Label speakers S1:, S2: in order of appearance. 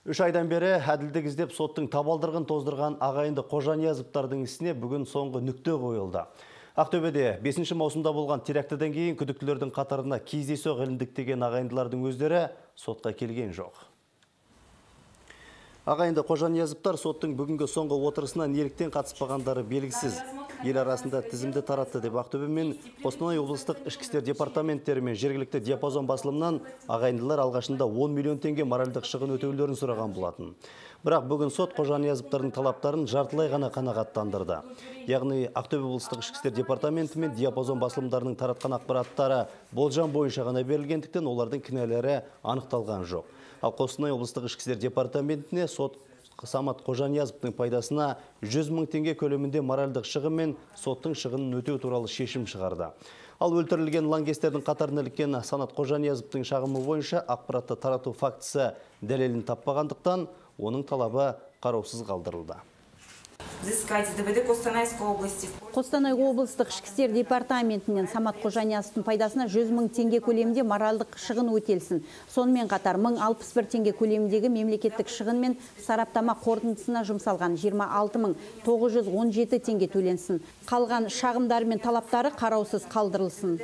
S1: 3 айдан бері әділдік іздеп соттың табалдырығын тоздырған ағайынды Қожаниязовтардың ісіне бүгін соңғы нүкте қойылды. Ақтөбеде 5 маусымда болған терактіден кейін күдіктілердің қатарына кездейсоқ іліндіктеген ағайындылардың өздері сотқа келген жоқ. Ағайынды Қожаниязовтар соттың бүгінгі соңғы отырысына неліктен қатыспағандары белгісіз. Ел арасында тізімді таратты деп Ақтөбе мен Қостанай облыстық ішкі істер департаменттері мен жергілікті диапазон басылымнан ағайындылар алғашында 10 миллион теңге моральдық шығын өтеулерін сұраған болатын. Бірақ бүгін сот Қожаниязовтардың талаптарын жартылай ғана қанағаттандырды. Яғни Ақтөбе облыстық ішкі істер департаменті мен диапазон басылымдарының таратқан ақпараттары болжам бойынша ғана берілгендіктен олардың кінәлері анықталған жоқ. Ал Қостанай облыстық ішкі істер департаментіне сот Самат Қожаниязовтың пайдасына 100 мың теңге көлемінде моральдық шығын мен соттың шығынын өтеу туралы шешім шығарды. Ал өлтірілген лаңкестердің қатарына іліккен Самат Қожаниязовтың шағымы бойынша ақпаратты тарату фактісі дәлелін таппағандықтан оның талабы қараусыз қалдырылды.
S2: Қостанай облыстық ішкі істер департаментінен Самат Қожаниязовтың пайдасына 100 мың теңге көлемінде моральдық шығын өтелсін. Сонымен қатар 1061 теңге көлеміндегі мемлекеттік шығын мен сараптама қорытындысына жұмсалған 26.917 теңге төленсін. Қалған шағымдар мен талаптары қараусыз қалдырылсын.